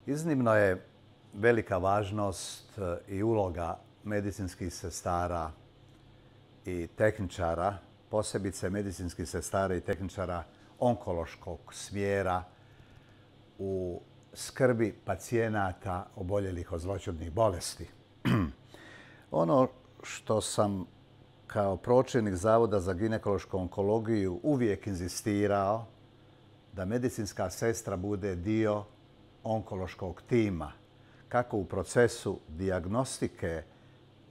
Iznimno je velika važnost i uloga medicinskih sestara i tehničara, posebice medicinskih sestara i tehničara onkološkog smjera u skrbi pacijenata oboljelih od zloćudnih bolesti. Ono što sam kao pročelnik Zavoda za ginekološku onkologiju uvijek inzistirao, da medicinska sestra bude dio onkološkog tima, kako u procesu dijagnostike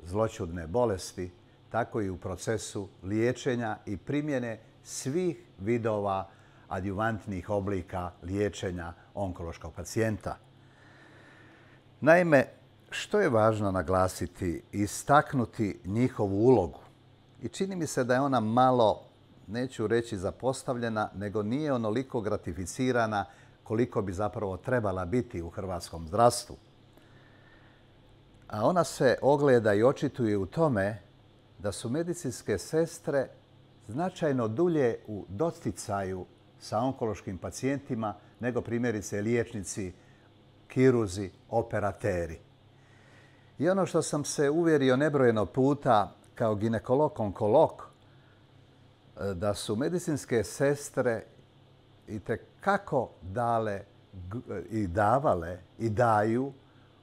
zloćudne bolesti, tako i u procesu liječenja i primjene svih vidova adjuvantnih oblika liječenja onkološkog pacijenta. Naime, što je važno naglasiti i istaknuti njihovu ulogu? I čini mi se da je ona malo, neću reći zapostavljena, nego nije onoliko gratificirana koliko bi zapravo trebala biti u hrvatskom zdravstvu. A ona se ogleda i očituje u tome da su medicinske sestre značajno dulje u doticaju sa onkološkim pacijentima nego primjerice liječnici, kirurzi, operateri. I ono što sam se uvjerio nebrojeno puta kao ginekolog-onkolog, da su medicinske sestre itekako dale i davale i daju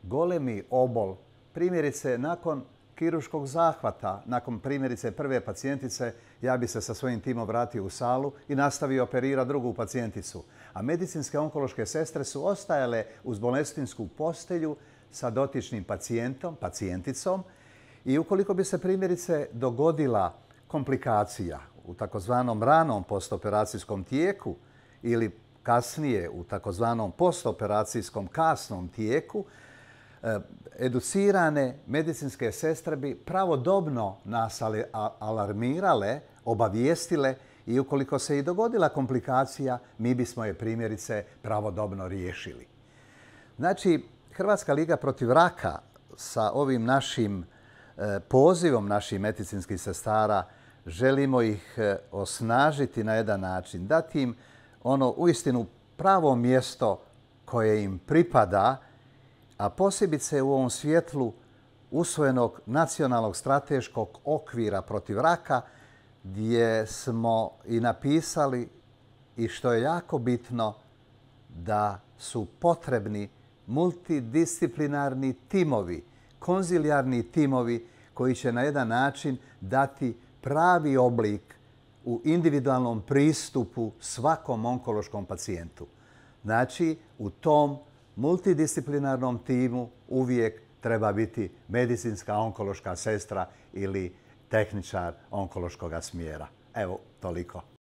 golemi obol, primjerice nakon kirurškog zahvata, nakon primjerice prve pacijentice, ja bi se sa svojim timom vratio u salu i nastavio operirati drugu pacijenticu. A medicinske onkološke sestre su ostajale uz bolestinsku postelju sa dotičnim pacijenticom i ukoliko bi se primjerice dogodila komplikacija u takozvanom ranom postoperacijskom tijeku ili kasnije u takozvanom postoperacijskom kasnom tijeku, educirane medicinske sestre bi pravodobno nas alarmirale, obavijestile i ukoliko se i dogodila komplikacija, mi bismo je primjerice pravodobno riješili. Znači, Hrvatska liga protiv raka sa ovim našim pozivom naših medicinskih sestara želimo ih osnažiti na jedan način, dati im ono uistinu pravo mjesto koje im pripada, a posebice u ovom svjetlu usvojenog nacionalnog strateškog okvira protiv raka, gdje smo i napisali, i što je jako bitno, da su potrebni multidisciplinarni timovi, konzilijarni timovi koji će na jedan način dati pravi oblik u individualnom pristupu svakom onkološkom pacijentu. Znači, u tom multidisciplinarnom timu uvijek treba biti medicinska onkološka sestra ili tehničar onkološkog smjera. Evo, toliko.